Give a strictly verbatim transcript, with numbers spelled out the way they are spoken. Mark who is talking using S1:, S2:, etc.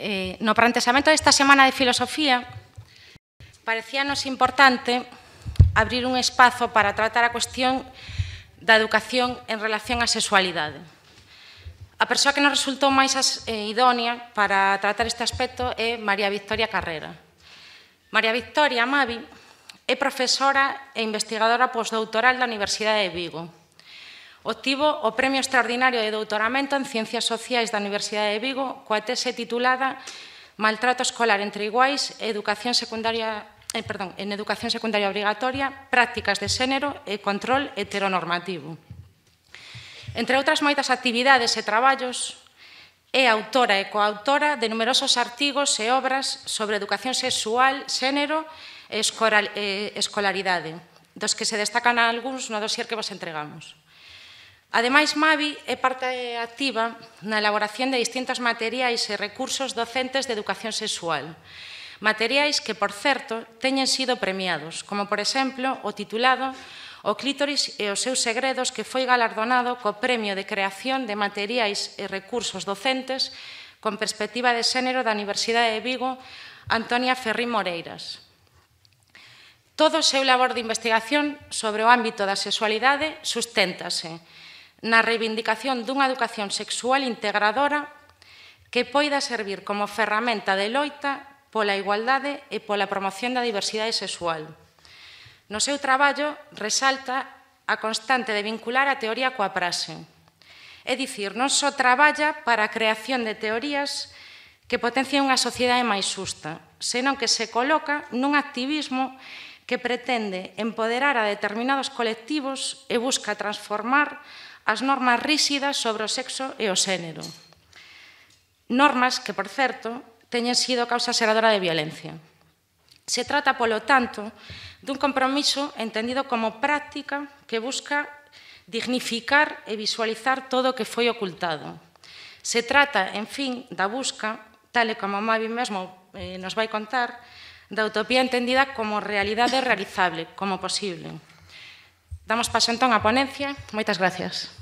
S1: eh, no planteamento desta Semana de Filosofía parecíanos importante abrir un espazo para tratar a cuestión da educación en relación á sexualidade. A persoa que nos resultou máis eh, idónea para tratar este aspecto é María Victoria Carrera. María Victoria Mavi é profesora e investigadora postdoutoral da Universidade de Vigo. Obtivo o Premio Extraordinario de Doutoramento en Ciencias Sociais da Universidade de Vigo coa tese titulada Maltrato escolar entre iguais e educación secundaria, eh, perdón, en educación secundaria obrigatoria, prácticas de xénero e control heteronormativo. Entre outras moitas actividades e traballos, é autora e coautora de numerosos artigos e obras sobre educación sexual, xénero e escolaridade, dos que se destacan algúns no dossier que vos entregamos. Ademais, Mavi é parte activa na elaboración de distintos materiais e recursos docentes de educación sexual, materiais que, por certo, teñen sido premiados, como, por exemplo, o titulado O clítoris e os seus segredos, que foi galardonado co Premio de Creación de Materiais e Recursos Docentes con Perspectiva de Xénero da Universidade de Vigo, Antonia Ferrín Moreiras. Todo o seu labor de investigación sobre o ámbito da sexualidade susténtase na reivindicación dunha educación sexual integradora que poida servir como ferramenta de loita pola igualdade e pola promoción da diversidade sexual. No seu traballo resalta a constante de vincular a teoría coa praxe. É dicir, non só traballa para a creación de teorías que potencian unha sociedade máis xusta, senón que se coloca nun activismo que pretende empoderar a determinados colectivos e busca transformar as normas ríxidas sobre o sexo e o xénero. Normas que, por certo, teñen sido causa xeradora de violencia. Se trata, polo tanto, dun compromiso entendido como práctica que busca dignificar e visualizar todo o que foi ocultado. Se trata, en fin, da busca, tal e como Mavi mesmo eh, nos vai contar, da utopía entendida como realidade realizable, como posible. Damos paso entón á ponencia. Moitas gracias.